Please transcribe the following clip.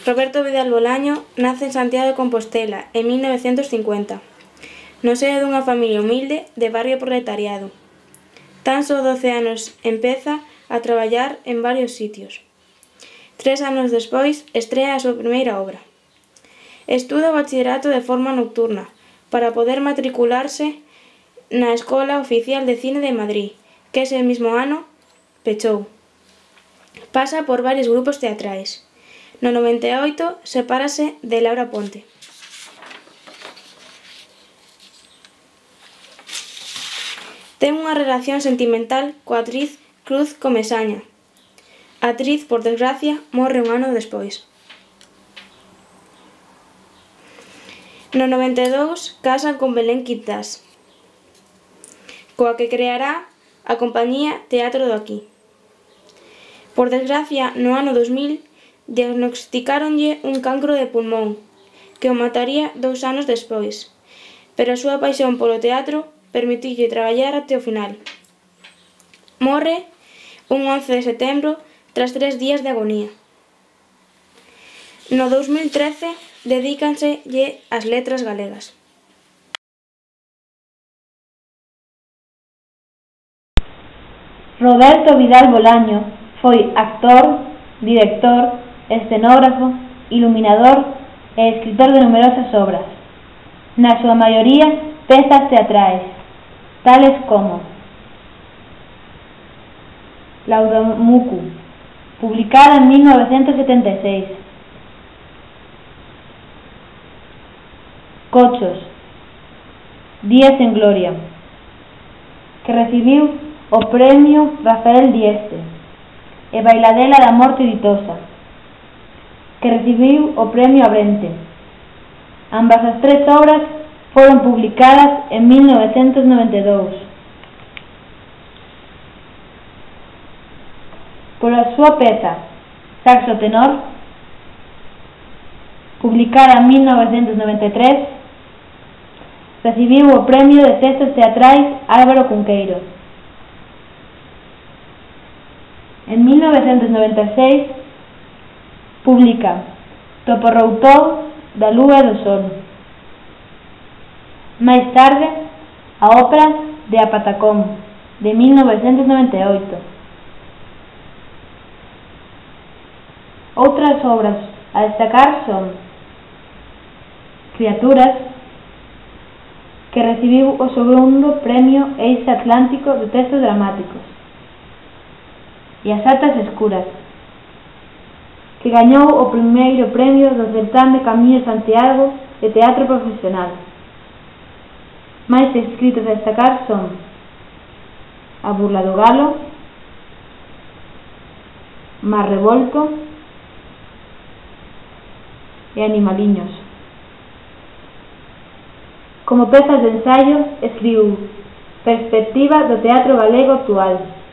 Roberto Vidal Bolaño nace en Santiago de Compostela en 1950, no seo dunha familia humilde de barrio proletariado. Tan só 12 anos empeza a traballar en varios sitios. 3 anos despois estrea a súa primeira obra. Estuda o bachillerato de forma nocturna para poder matricularse na Escola Oficial de Cine de Madrid, que ese mismo ano pechou. Pasa por varios grupos teatrais. No 98 sepárase de Laura Ponte. Ten unha relación sentimental coa actriz Cruz Comesaña. A actriz, por desgracia, morre un ano despois. No 92 casa con Belén Quintás, coa que creará a compañía Teatro do Aquí. Por desgracia, no ano 2000, diagnosticáronlle un cancro de pulmón, que o mataría 2 anos despois, pero a súa paixón polo teatro permitiulle traballar até o final. Morre un 11 de setembro tras 3 días de agonía. No 2013 dedícanselle ás letras galegas. Roberto Vidal Bolaño foi actor, director, escenógrafo, iluminador e escritor de numerosas obras, na súa maioría pezas teatrais, tales como Laudamucu, publicada en 1976, Cochos, Días en Gloria, que recibiu o Premio Rafael Dieste, e Bailadela da Morte Ditosa, que recibiu o Premio Abrente. Ambas as 3 obras foron publicadas en 1992. Pola súa peza Saxo Tenor, publicada en 1993, recibiu o Premio de Textos Teatrais Álvaro Cunqueiro. En 1996 publica Toporroutou da Lúa e do Sol. Máis tarde, a ópera de A Patacón, de 1998. Outras obras a destacar son Criaturas, que recibiu o segundo Premio Eixe Atlántico de Textos Dramáticos, e As Altas Escuras, que gañou o primeiro premio do certame Camiño de Santiago de Teatro Profesional. Máis escritos a destacar son A Burla do Galo, Mar Revolto e Animaliños. Como pezas de ensaio, escribiu Perspectiva do teatro galego actual,